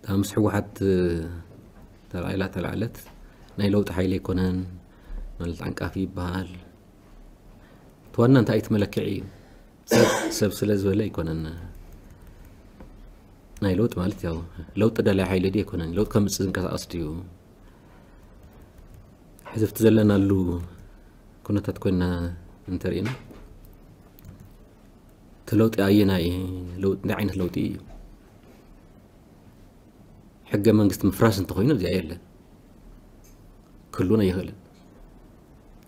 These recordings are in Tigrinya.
ምስ ህወሓት ተላዒላ ተላዕለት ናይ ለውጢ ሓይሊ ኣይኮነን ማለት ዓንቃፊ ይበሃል። እቲ ዋና እንታይ እቲ መለክዒ እዩ? ሰብ ሰብ ስለ ዝበለ ኣይኮነን። ናይ ለውጢ ማለት ያው ለውጢ ደላይ ሓይሊ ድዩ ኣይኮነን፣ ለውጢ ከምፅእ ዝንቀሳቐስ ድዩ? ሕዚ ኣብቲ ዘለናሉ ኩነታት ኮይና እንተሪእና እቲ ለውጢ ኣየናይ ለውጢ እንታይ ዓይነት ለውጢ እዩ? ሕገ መንግስቲ ምፍራስ እንተኾይኑ እዚኣ የለን፣ ክህሉን ኣይኽእልን።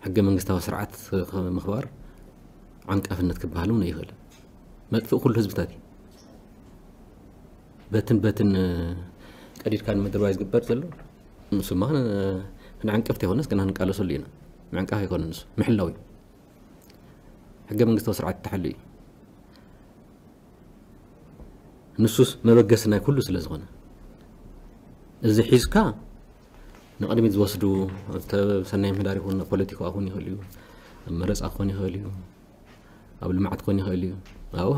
ሕገ መንግስታዊ ስርዓት ምኽባር ዓንቃፍነት ክበሃል እውን ኣይኽእልን። መጥፍእ ኩሉ ህዝብታት እዩ። በትን በትን ቀዲድካ ንምድርባይ ዝግበር ዘሎ ንሱማ ንዓንቀፍቲ ይኮነስ ግና ንቃለሰሉ ኢና። ምዕንቃፍ ኣይኮነ ንሱ ምሕላው እዩ። ሕገ መንግስታዊ ስርዓት ተሓሉ እዩ። ንሱስ መበገሲ ናይ ኩሉ ስለ ዝኾነ እዚ ሒዝካ ንቕድሚት ዝወስዱ ኣብ ሰናይ ምሕዳር ይኹን ኣብ ፖለቲካ ክኾን ይኽእል እዩ፣ ኣብ መረፃ ክኾን ይኽእል እዩ፣ ኣብ ልምዓት ክኾን ይኽእል እዩ። ኣብኡ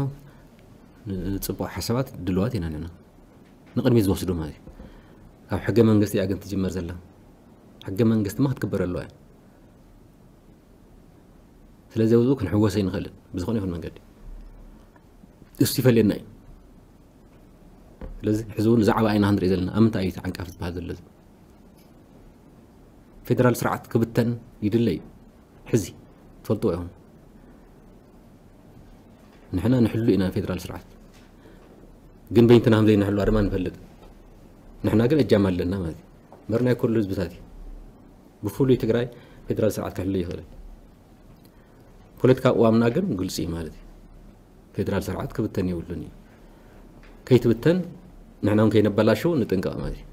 ንፅቡቕ ሓሳባት ድልዋት ኢና ንሕና ንቕድሚት ዝወስዱ ማለት እዩ። ካብ ሕገ መንግስቲ እያ ግን ትጅመር ዘላ። ሕገ መንግስቲ ማ ክትግበር ኣለዋ እያ። ስለዚ ኣብኡ ክንሕወስ ኣይንኽእልን ብዝኾነ ይኹን መንገዲ። እሱ ይፈልየና እዩ። ስለዚ ሕዚ እውን ዛዕባ ኢና ክንርኢ ዘለና ኣብ ምንታይ እዩ ዓንቃፍ ዝበሃል ዘሎ? ፌደራል ስርዓት ክብተን ይድለ እዩ። ሕዚ ትፈልጥዎ ኢኹም። ንሕና ንሕሉ ኢና ፌደራል ስርዓት፣ ግን በይንትና ከም ዘይንሕልዋ ድማ ንፈልጥ። ንሕና ግን እጃም ኣለና ማለት እዩ። እምበር ናይ ኩሉ ህዝብታት እዩ። ብፍሉይ ትግራይ ፌደራል ስርዓት ክሕሉ ይኽእል። ፖለቲካ ቅዋምና ግን ግልፂ እዩ ማለት እዩ። ፌደራል ስርዓት ክብተን የብሉን እዩ። ከይትብተን ንሕና እውን ከይነበላሽው ንጥንቀቕ ማለት እዩ።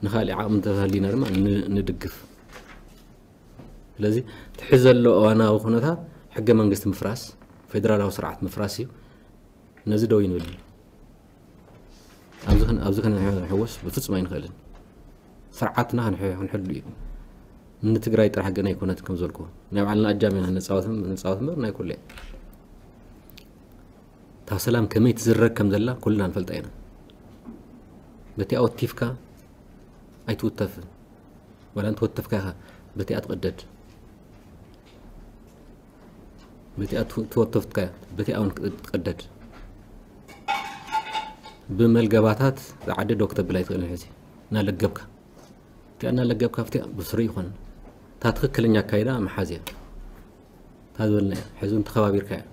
ንኻሊእ ዓቕሚ እንተሃሊና ድማ ን- ንድግፍ። ስለዚ እቲ ሕዚ ዘሎ እዋናዊ ኩነታት ሕገ መንግስቲ ምፍራስ፣ ፌደራላዊ ስርዓት ምፍራስ እዩ። ነዚ ደው ይንብል። ኣብዚ ክን- ኣብዚ ክንሕወስ ብፍጹም ኣይንኽእልን። ስርዓትና ክንሕ- ክንሕሉ እዩ። ንትግራይ ጥራሕ ገና ኣይኮነትን ከም ዝበልኩ ናይ ባዕልና ኣጃም ኢና ንፃወት ንፃወት እምበር ናይ ኩሉ እያ። እታ ሰላም ከመይ ትዝረግ ከም ዘላ ኩልና ንፈልጣ ኢና። በቲኣ ወቲፍካ ኣይትውተፍን፣ ዋላ እንተወተፍካ ኢኻ በቲኣ ትቐደድ። በቲኣ ትው- ትወተፍካ በቲኣ እውን ትቐደድ። ብመልገባታት ዝዓደ ዶ ክተብል ኣይትኽእልን። ሕዚ እናለገብካ እቲኣ እናለገብካ ኣብቲኣ ብስሩ ይኾን እታ ትኽክለኛ ኣካይዳ ምሓዝ እያ። እታ ዝበልና እያ። ሕዚ እውን ተኸባቢርካ እያ።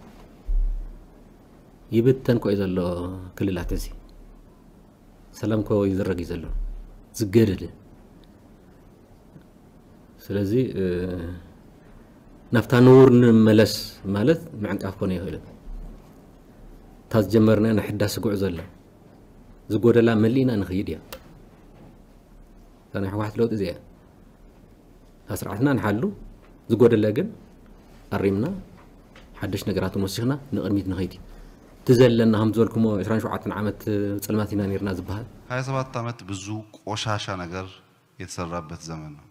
ይብተን ኮ እዩ ዘሎ ክልላት እዚ ሰላም ኮ ይዝረግ እዩ ዘሎ ዝገደደ። ስለዚ እ፣ ናብታ ንቡር ንመለስ ማለት ምዕንቃፍ ኮነ ይኽእልን እታ ዝጀመርና ናይ ሕዳሲ ጉዕዞ ኣላ ዝጎደላ መሊእና ንኽይድ እያ። እታ ናይ ህወሓት ለውጢ እዚኣ እያ። እታ ስርዓትና ንሓሉ ዝጎደለ ግን ኣሪምና ሓደሽ ነገራት ወሲኽና ንቕድሚት ንኸይድ እዩ። እቲ ዘለና ከም ዝበልኩሞ ዕስራን ሸውዓተን ዓመት ፀልማት ኢና ነርና ዝበሃል ሃያ ሰባት ዓመት ብዙ ቆሻሻ ነገር የተሰራበት ዘመን ነው።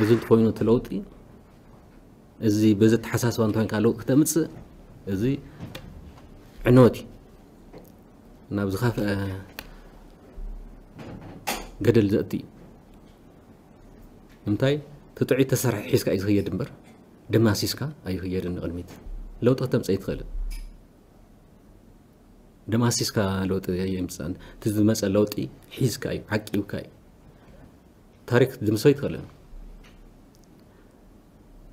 እዚ እንተኾይኑ እቲ ለውጢ እዚ በዚ ኣተሓሳስባ እንተኮይንካ ለውጢ ክተምፅእ እዚ ዕንወት እዩ። ናብ ዝኸፍአ ገደል ዘእቲ እዩ። እንታይ እቲ ጥዑይ ተሰርሐ ሒዝካ እዩ ዝኽየድ እምበር ደማሲስካ ኣይኽየድን ንቕድሚት ለውጢ ክተምፅእ ኣይትኽእልን። ደማሲስካ ለውጢ የምፅእን እቲ ዝመፀ ለውጢ ሒዝካ እዩ ዓቂብካ እዩ። ታሪክ ድምሶ ኣይትኽእልን።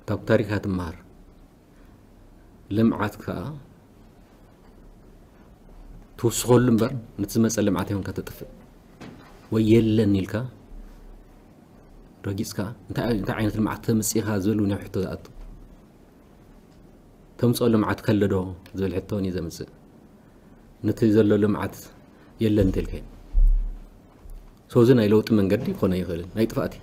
ካብ ታሪካ ትመሃር። ልምዓት ከዓ ትውስኸሉ እምበር ነቲ ዝመፀ ልምዓት ይሆንካ ተጥፍእ ወይ የለን ኢልካ ረጊፅካ እንታይ እንታይ ዓይነት ልምዓት ተምፅኢኻ ዝብል እውን ሕቶ ዝኣቱ ተምፅኦ ልምዓት ከለዶ ዝብል ሕቶ እውን እዩ ዘምፅእ። ነቲ ዘሎ ልምዓት የለን እንተልካዮ ሰው እዚ ናይ ለውጢ መንገዲ ክኾነ ይኽእልን ናይ ጥፋእቲ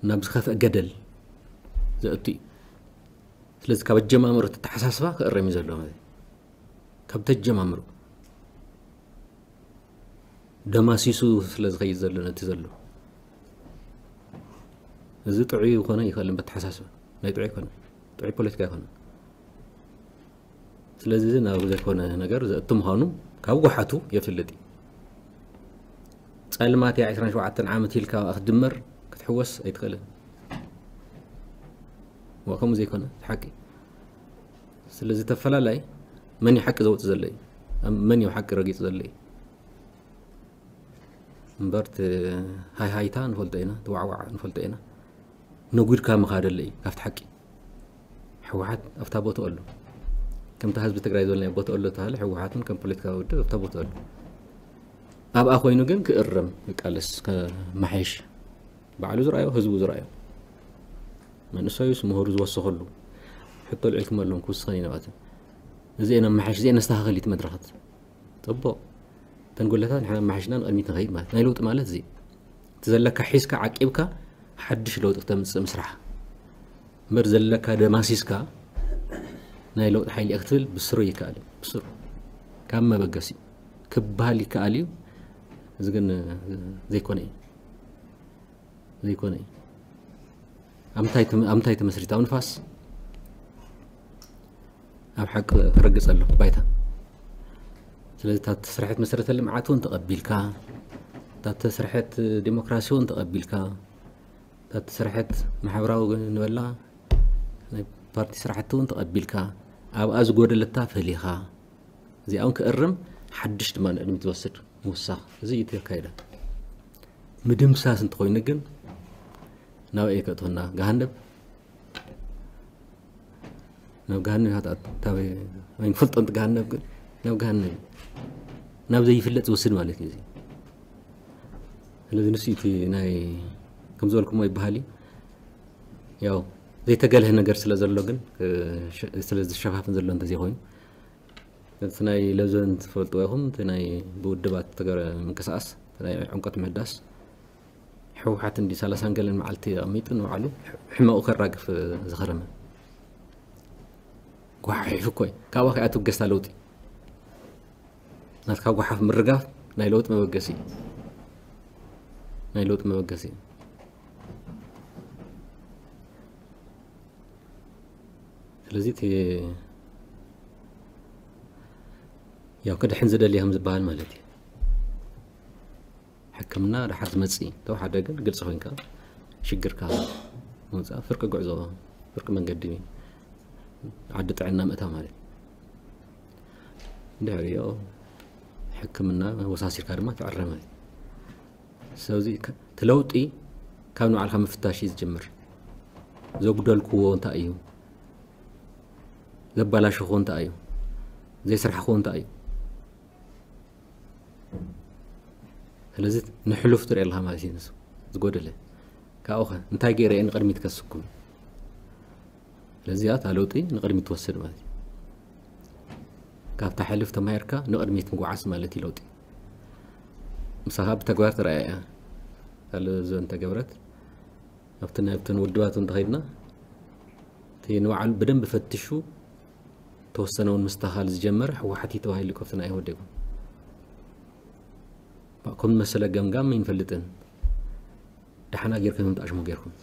ናብ ዝኸፍአ ገደል ዘእቱ እዩ። ስለዚ ካብ ኣጀማምሮ ተተሓሳስባ ክእረም እዩ ዘለዎ ማለት እዩ። ካብ ተጀማምሮ ደማሲሱ ስለ ዝኸይድ ዘሎ ነቲ ዘሎ እዚ ጥዑይ ይኾነ ይኽእል እምበር፣ ተሓሳስበ ናይ ጥዑይ ኣይኮነ፣ ጥዑይ ፖለቲካ ኣይኮነ። ስለዚ እዚ ናብ ዘይኮነ ነገር ዘእቱ ምዃኑ ካብ ጓሓቱ የፍልጥ እዩ። ጸልማት እያ፣ ዕስራን ሸውዓተን ዓመት ኢልካ ክትድመር ክትሕወስ ኣይትኽእልን። ዋ፣ ከምኡ ዘይኮነ፣ እቲ ሓቂ። ስለዚ ተፈላላይ መን እዩ ሓቂ ዘውጽእ ዘሎ እዩ? ኣብ መን እዩ ሓቂ ረጊጹ ዘሎ እዩ? እምበር እቲ ሃይሃይታ ንፈልጦ ኢና፣ እቲ ዋዕዋዕ ንፈልጦ ኢና። ነጒድካ ምኻድ ኣሎ እዩ ካብቲ ሓቂ። ህወሓት ኣብታ ቦትኡ ኣሎ። ከምታ ህዝቢ ትግራይ ዝበልናዮ ቦትኡ ኣሎ ተባሃለ፣ ህወሓት እውን ከም ፖለቲካዊ ውድብ ኣብታ ቦትኡ ኣሎ። ኣብኣ ኮይኑ ግን ክእረም፣ ክቃለስ፣ ከመሓየሽ፣ ባዕሉ ዝረኣዮ፣ ህዝቡ ዝረኣዮ፣ መንእሰዩስ ምሁሩ ዝወሰኸሉ ሕቶ ኣልዒልኩም ኣለኹም፣ ክውስኸን እዩ ናባትን። እዚኤን ኣመሓይሽ፣ እዚኤን ነስተኻኸል እዩ እቲ መድረኻት። ጽቡቕ። እተን ጉድለታት ንሕና ኣመሓይሽና ንቕድሚት ንኸይድ ማለት፣ ናይ ለውጢ ማለት እዚ። እቲ ዘለካ ሒዝካ ዓቂብካ ሓድሽ ለውጢ ክተምጽእ ምስራሕ። እምበር ዘለካ ደማሲስካ ናይ ለውጢ ሓይሊ እየ ክትብል ብስሩ ይከኣል እዩ። ብስሩ። ካብ መበገሲ ክበሃል ይከኣል እዩ። እዚ ግን ዘይኮነ እዩ። ዘይኮነ እዩ። ኣብ ምንታይ ተመ-፣ ኣብ ምንታይ ተመስሪታ? ኣብ ንፋስ፣ ኣብ ሓቂ ክረግጽ ኣሎ ባይታ። ስለዚ እታ እተሰርሐት መሰረተ ልምዓት እውን ተቐቢልካ፣ እታ እተሰርሐት ዲሞክራሲ እውን ተቐቢልካ፣ እታ እተሰርሐት ማሕበራዊ ንበላ ናይ ፓርቲ ስራሕቲ እውን ተቐቢልካ፣ ኣብኣ ዝጎደለታ ፈሊኻ፣ እዚኣ እውን ክእርም፣ ሓድሽ ድማ ንቕድሚት ዝወስድ ምውሳኽ። እዚ እዩ እቲ ኣካይዳ። ምድምሳስ እንተኾይኑ ግን ናበይ ከእትወና? ገሃነብ? ናብ ገሃነብ ኢኻ ትኣቱ። ታበይ ኣይንፈልጦን፣ እቲ ገሃነብ ግን ናብ ገሃነብ እዩ። ናብ ዘይፍለጥ ዝወስድ ማለት እዩ እዚ። ስለዚ ንሱ እቲ ናይ፣ ከም ዝበልኩሞ ይበሃል እዩ። ያው ዘይተገልሀ ነገር ስለ ዘሎ ግን፣ እ፣ ሸ-፣ ስለ ዝሸፋፍን ዘሎ እንተዘይኮይኑ፣ እቲ ናይ ለዞን ትፈልጥዎ ኢኹም፣ እቲ ናይ ብውድባት ተገረ ምንቅስቃስ፣ እቲ ናይ ዕምቆት ምህዳስ፣ ህወሓት እንዲ ሰላሳን ገለን መዓልቲ ኣቐሚጡ ንባዕሉ ሕመቑ ከራግፍ ዝኸረመ። ጓሓሒፉ እኮ እዩ። ካብኣ ከኣ ትብገስታ ለውጢ። ናትካ ጓሓፍ ምርጋፍ ናይ ለውጢ መበገሲ እዩ። ናይ ለውጢ መበገሲ እዩ። ስለዚ እቲ ያው ክድሕን ዝደሊ ከም ዝበሃል ማለት እዩ። ሕክምና ደሓር ዝመጽእ እዩ። ተወሓደ ግን ግልጺ ኮይንካ ሽግርካ ምውጻእ፣ ፍርቂ ጉዕዞ፣ ፍርቂ መንገዲ ዓዲ ጥዕና ምእታው ማለት እዩ። ድሕሪኦ ሕክምና ወሳሲርካ ድማ ትዕረ ማለት እዩ። ስለዚ ከ-፣ እቲ ለውጢ ካብ ንባዕልካ ምፍታሽ እዩ ዝጅምር። ዘጉደልክዎ እንታይ እዩ? ዘባላሸኽዎ እንታይ እዩ? ዘይስራሕክዎ እንታይ እዩ? ስለዚ ንሕሉፍ ትርኢ ኣለኻ ማለት እዩ። ንሱ ዝጎደለ ካብኡ ኸ እንታይ ገይረ እየ ንቕድሚት ከስኩም? ስለዚ እታ ለውጢ ንቕድሚት ትወስድ ማለት እዩ። ካብታ ሕልፍ ተማሂርካ ንቕድሚት ምጉዓዝ ማለት እዩ ለውጢ። ምሳኻ ብተግባር ተረኣያ እያ። እታ ለዞ እንተገብረት፣ ኣብቲ ናብተን ውድባት እንተኸይድና፣ እቲ ንባዕሉ ብደንብ ፈትሹ ተወሰነ እውን ምስተኻል ዝጀመረ ህወሓት እዩ ተባሂሉ፣ ካብቲ ናይ ኢህወዴግ እውን። ከም መሰለ ገምጋም ይንፈልጥን። ደሓና ጌርኩም ምምጣእ ሽሙ ጌርኩም።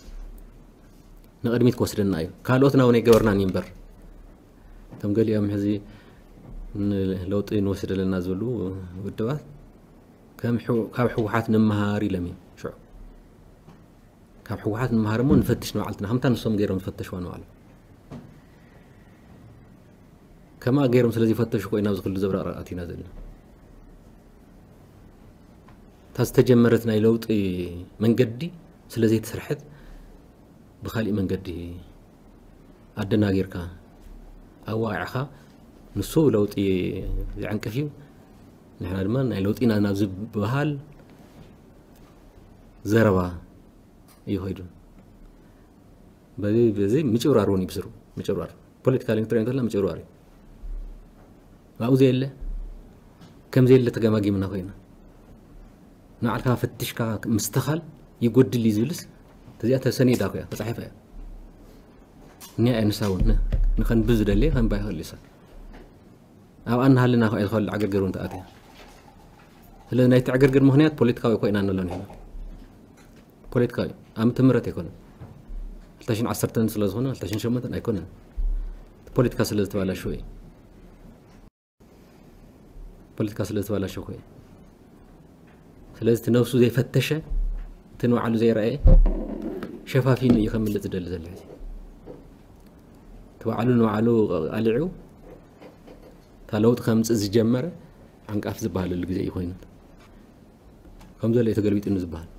ንቕድሚት ክወስደና እዩ። ካልኦትና እውን ኣይገበርናን እዩ እምበር። እቶም ገሊኦም ሕዚ ንለውጢ ንወስድ ኣለና ዝብሉ ውድባት ከም ሕው-፣ ካብ ህወሓት ንመሃር ኢሎም እዮም። ሽዑ ካብ ህወሓት ንመሃር እሞ ንፈትሽ ንባዕልትና፣ ከምታ ንሶም ገይሮም ዝፈተሽዋ ንባዕሎም። ከማ ገይሮም ስለ ዝፈተሹ እኮ ኢና ኣብዚ ኩሉ ዘብረቕረቕ ኣቲና ዘለና። እታ ዝተጀመረት ናይ ለውጢ መንገዲ ስለ ዘይተሰርሐት ብኻሊእ መንገዲ ኣደናጊርካ ኣዋቂዕኻ፣ ንሱ ለውጢ ዝዕንቅፍ እዩ፣ ንሕና ድማ ናይ ለውጢ ኢና ናብ ዝበሃል ዘረባ እዩ ኸይዱ። በዚ፣ በዚ ምጭብራር እውን ይብስሩ። ምጭብራር። ፖለቲካሊ ክትሪኦ እንተላ ምጭብራር እዩ። ኣብኡ ዘየለ፣ ከም ዘየለ ተገማጊምና ኮይና። ንባዕልካ ፈትሽካ ምስትኻል ይጎድል እዩ ዝብልስ፣ እዚኣ ተሰኒዳ እኮ እያ፣ ተጻሒፋ እያ። እኒኣ እያ ንሳ እውን፣ ን-፣ ንኸንብብ ዝደሊ ከንባ ይኽእል እዩ ሰብ። ኣብኣ እናሃለና እኮ እያ ዝኾነ ዕግርግር እውን ተኣትያ። ስለዚ ናይቲ ዕግርግር ምኽንያት ፖለቲካዊ እኮ ኢና እንብሎ ንሕና። ፖለቲካዊ፣ ኣብ ትምህርት ኣይኮነን። ክልተ ሽሕን ዓሰርተን ስለ ዝኾነ ክልተ ሽሕን ሸሞንተን ኣይኮነን። ፖለቲካ ስለ ዝተባላሸወ እዩ። ፖለቲካ ስለ ዝተባላሸወ እዩ። ስለዚ እቲ ነብሱ ዘይፈተሸ፣ እቲ ንባዕሉ ዘይረኣየ ሸፋፊኑ እዩ ከምልጥ ዝደሊ ዘሎ። ሕዚ እቲ ባዕሉ ንባዕሉ ኣሊዑ እታ ለውጢ ከምፅእ ዝጀመረ ዓንቃፍ ዝበሃለሉ ግዜ እዩ ኮይኑ፣ ከም ዘሎ እዩ ተገልቢጡ ዝበሃል።